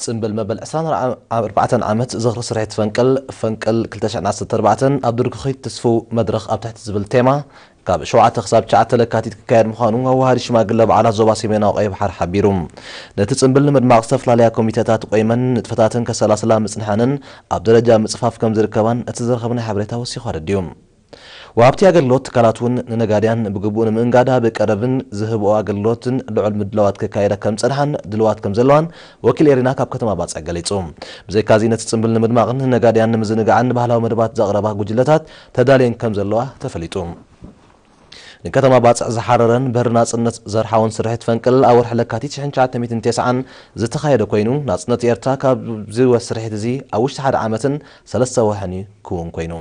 ጽምብል መበል ዕስራን ኣርባዕተን ዓመት ዝኽሪ ስርሒት ፈንቅል፣ ፈንቅል ክልተ ሽሕን ዓሰርተ ኣርባዕተን ኣብ ድርኩኺት ትስፉው መድረኽ ኣብ ትሕቲ ዝብል ቴማ ካብ ሸውዓተ ክሳብ ትሽዓተ ለካቲት ክካየድ ምዃኑ ኣዋሃዲ ሽማግለ በዓላት ዞባ ሰሜናዊ ቀይሕ ባሕሪ ሓቢሩ። ነቲ ጽምብል ንምድማቕ ዝተፈላለያ ኮሚቴታት ቆይመን ንጥፈታትን ከሰላስላ ምጽንሐንን ኣብ ደረጃ ምጽፋፍ ከም ዝርከባን እቲ ዝረኸብናዮ ሓበሬታ ወሲኹ ኣረዲኡ። ወሃብቲ ኣገልግሎት ትካላት እውን ንነጋድያን ብግቡእ ንምእንጋድ ኣብ ቀረብን ዝህብኦ ኣገልግሎትን ልዑል ምድላዋት ክካየዳ ከም ዝጸንሓን ድልዋት ከም ዘለዋን ወኪል ኤሪና ካብ ከተማ ባጽዕ ገሊጹ። ብዘይካዚ ነቲ ጽምብል ንምድማቕን ንነጋድያን ንምዝንጋዕን ባህላዊ መደባት ዘቕረባ ጉጅለታት ተዳልየን ከም ዘለዋ ተፈሊጡ። ንከተማ ባጽዕ ዝሓረረን በሪ ናጽነት ዘርሓውን ስርሒት ፈንቅል ኣብ ወርሒ ለካቲት ሽሕን ትሽዓተ ሚእትን ተስዓን ዝተኻየደ ኮይኑ፣ ናጽነት ኤርትራ ካብዚ ወ-፣ ስርሒት እዚ ኣብ ውሽጢ ሓደ ዓመትን ሰለስተ ወርሕን እዩ ክውን ኮይኑ።